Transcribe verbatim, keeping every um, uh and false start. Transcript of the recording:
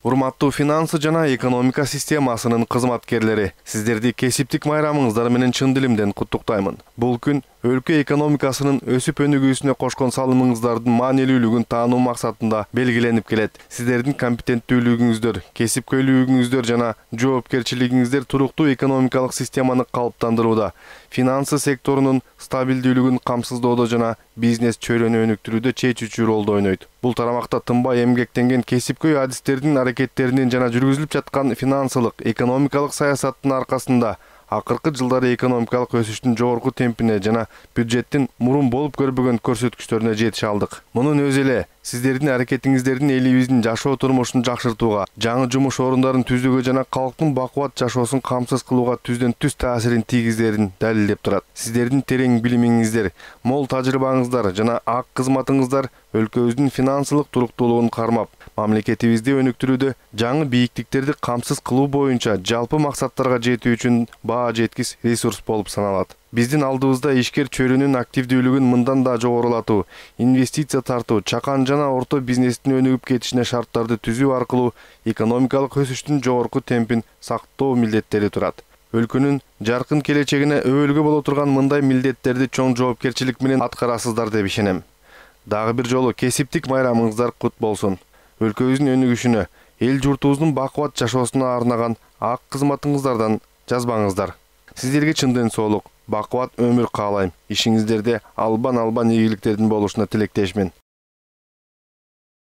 Урматтуу финансы жана экономика системасынын кызматкерлери, сиздерди кесиптик майрамыңыздар менен чын дилимден куттуктаймын. Бул күн өлкө экономикасынын өсүп өнүгүүсүнө кошкон салымыңыздардын маанилүүлүгүн таануу максатында белгиленип келет. Сиздердин компетенттүүлүгүңүздөр, кесипкөйлүгүңүздөр жана жоопкерчилигиңиздер туруктуу экономикалык системаны калыптандырууда, финансы секторунун стабилдүүлүгүн камсыздоодо жана бизнес чөйрөнү өнүктүрүүдө чечүүчү ролду ойнойт. Бул тарамакта тынбай эмгектенген кесипкөй адистердин аракеттеринин жана жүргүзүлүп жаткан финансылык, экономикалык саясаттын аркасында акыркы жылдары экономикалык өсүштүн жогорку темпине жана бюджеттин мурун болуп көрбөгөн көрсөткүчтөрүнө жетише алдык. Мунун өзү эле сиздердин аракетиңиздердин элибиздин жашоо турмушун жакшыртууга, жаңы жумуш орундарын түзүүгө жана калктын бакубат жашоосун камсыз кылууга түздөн түз таасирин тийгизерин далилдеп турат. Сиздердин терең билимиңиздер, мол тажрыйбаңыздар жана ак кызматыңыздар өлкөбүздүн финансылык туруктуулугун кармап, мамлекетибизди өнүктүрүүдө жаңы бийиктиктерди камсыз кылуу боюнча жалпы максаттарга жетүү үчүн баа жеткис ресурс болуп саналат. Биздин алдыбызда ишкер чөйрөнүн активдүүлүгүн мындан да жогорулатуу, инвестиция тартуу, чакан жана орто бизнестин өнүгүп кетишине шарттарды түзүү аркылуу экономикалык өсүштүн жогорку темпин сактоо милдеттери турат. Өлкөнүн жаркын келечегине өбөлгө боло турган мындай милдеттерди чоң жоопкерчилик менен аткарасыздар деп ишенем. Дагы бир жолу кесиптик майрамыңыздар кут болсун. Өлкөбүздүн өнүгүшүнө, эл журтубуздун бакубат жашоосуна арнаган ак кызматыңыздардан жазбаңыздар. Сиздерге чындын соолук, бакубат өмүр каалайм. Ишиңиздерде албан-албан ийгиликтердин болушуна тилектешмин.